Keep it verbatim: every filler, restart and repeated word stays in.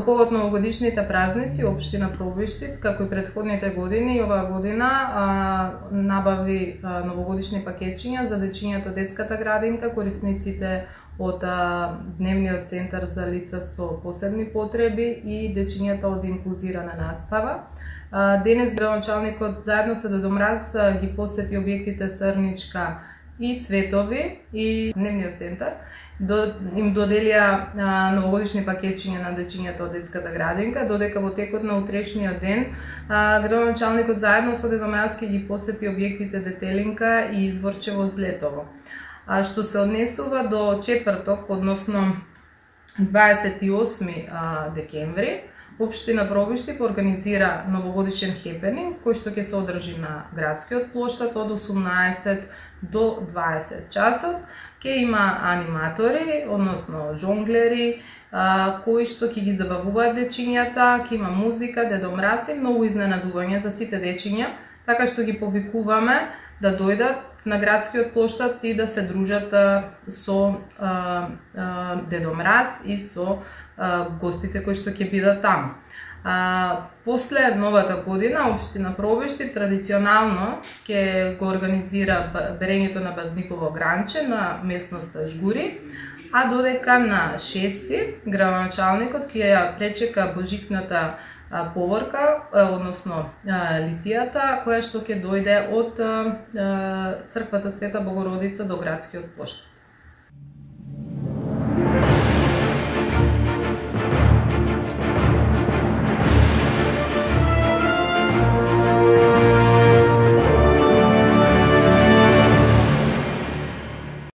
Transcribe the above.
Во повод новогодишните празници, општина Пробишти, како и претходните години, оваа година а, набави а, новогодишни пакетчиња за дечињата од детската градинка, корисниците од а, дневниот центар за лица со посебни потреби и дечињата од инклузирана настава. А, денес градоначалникот заедно со Дедо Мраз а, ги посети објектите Срничка и Цветови и дневниот центар. До, им доделија а, новогодишни пакетчиња на дечињата од детската градинка, додека во текот на утрешниот ден а, градоначалникот заедно со Дедо Мраз ги посети објектите Детелинка и Изворчево Злетово. А што се однесува до четврток, односно дваесет и осми а, декември, Општина Пробишти организира новогодишен хепенинг кој што ќе се одржи на градскиот плоштад од осумнаесет до дваесет часот. Ќе има аниматори, односно жонглери, а, кои што ќе ги забавуваат дечињата, ќе има музика, Дедо Мраз и многу изненадувања за сите дечиња, така што ги повикуваме да дојдат на градскиот плоштад и да се дружат а, со а, а, Дедо Мраз и со а, гостите кои што ќе бидат таму. А, после новата година, Општина Пробишти традиционално ќе го организира берењето на бадниково гранче на местноста Жгури, а додека на шести градоначалникот ќе ја пречека божитната поворка, односно литијата, која што ќе дојде од црквата Света Богородица до градскиот плоштад.